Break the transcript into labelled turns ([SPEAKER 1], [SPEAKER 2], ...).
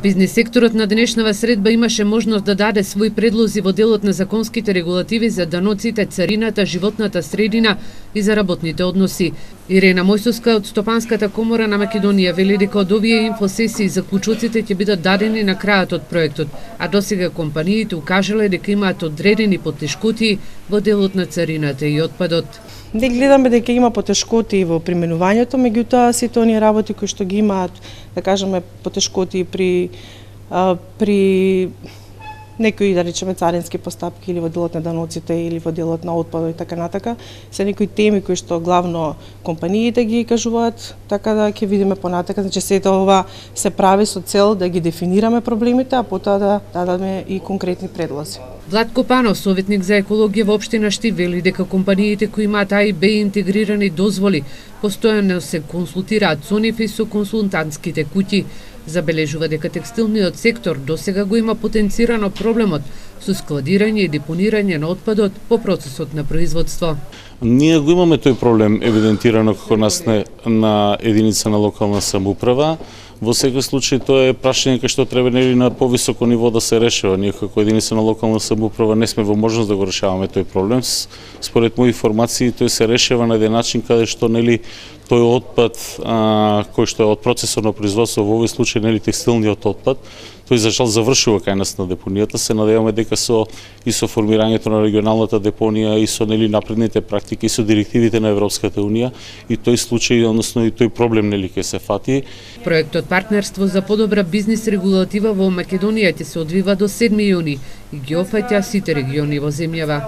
[SPEAKER 1] Бизнес секторот на денешнава средба имаше можност да даде свои предлози во делот на законските регулативи за даноците, царината, животната средина и за работните односи. Ирена Мојсовска од Стопанската комора на Македонија вели дека од овие инфосесии заклучоците ќе бидат дадени на крајот од проектот, а досега компаниите укажале дека имаат одредени потешкоти во делот на царината и отпадот.
[SPEAKER 2] Не гледаме дека има потешкоти во применувањето, меѓутоа сите оние работи кои што ги имаат, да кажеме, потешкоти при некои, да речеме, царински постапки или во делот на даноците или во делот на отпадот и така натака, се некои теми кои што главно компаниите ги кажуваат, така да ќе видиме понатака, значи сето ова се прави со цел да ги дефинираме проблемите, а потоа да дадеме и конкретни предлози.
[SPEAKER 1] Владко Панов, советник за екологија во општина Штип, вели дека компаниите кои имаат А и Б интегрирани дозволи постојано се консултираат со нив и со консултантските куќи. Забележува дека текстилниот сектор досега го има потенцирано проблемот со складирање и депонирање на отпадот по процесот на производство.
[SPEAKER 3] Ние го имаме тој проблем евидентирано кога нас на единица на локална самоуправа. Во секој случај тоа е прашање кај што треба нели на повисоко ниво да се решава. Ние како единица на локална самоуправа не сме во можност да го решаваме тој проблем. Според мои информации тој се решава на еден начин каде што нели тој отпад кој што е од процесот на производство, во овој случај нели текстилниот отпад, тој за жал завршува кај нас на депонијата. Се надеваме дека со формирањето на регионалната депонија и со нели напредните практики и со директивите на Европската унија и тој случај, односно и тој проблем нели ќе се фати.
[SPEAKER 1] Проектот Партнерство за подобра бизнис регулатива во Македонија ќе се одвива до 7 јуни и ги опфаќа сите региони во земјава.